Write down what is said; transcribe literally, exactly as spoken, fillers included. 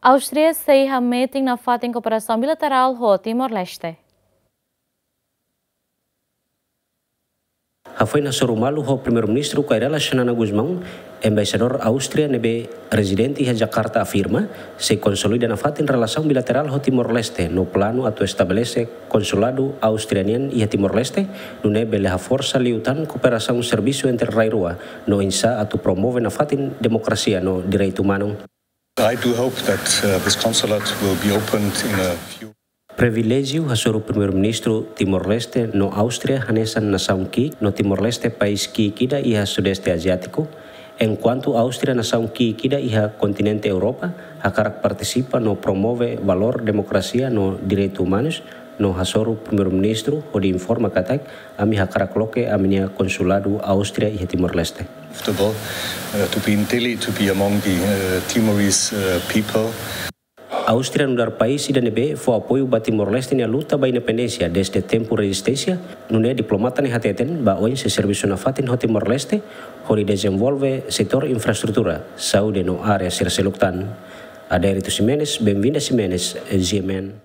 Áustria sei hametin nafatin kooperasaun bilaterál ho Timor-Leste. Hafoin hasoru malu ho Primeiru-Ministru Kay Rala Xanana Gusmão, Embaixadór Áustria ne'ebé rezidente iha Jakarta afirma, sei konsolida nafatin relasaun bilaterál ho Timor-Leste no planu atu estabelese konsuladu Áustria nian iha Timor-Leste, nune'e bele haforsa liután kooperasaun servisu entre rai rua, no oinsá atu promove nafatin demokrasia no direitu umanu. I do hope that, uh, this consulate will be opened in a few Priviléjiu hasoru Primeiru-Ministru Timor-Leste no Áustria hanesan nasaun ki'ik no Timor-Leste país ki'ik ida iha Sudeste Aziátiku, enkuantu Áustria nasaun ki'ik ida iha kontinente Europa, hakarak partisipa no promove valór demokrasia no direitu umanus, no hasoru Primeiru-Ministru hodi informa katak, ami hakarak loke ami-nia konsuladu Áustria iha Timor-Leste. Comfortable, uh, to be in Dili, to be among the, uh, Timorese, uh, people. Áustria nu'udar país ida ne'ebé fó apoiu ba Timor-Leste nia luta ba independénsia dezde tempu rezisténsia, nune'e diplomata ne'e hateten ba oin sei servisu nafatin ho Timor-Leste, hodi dezenvolve setór infraestrutura, saúde no área sira seluk tan. Adérito Ximenes, Benvinda Ximenes, G M N.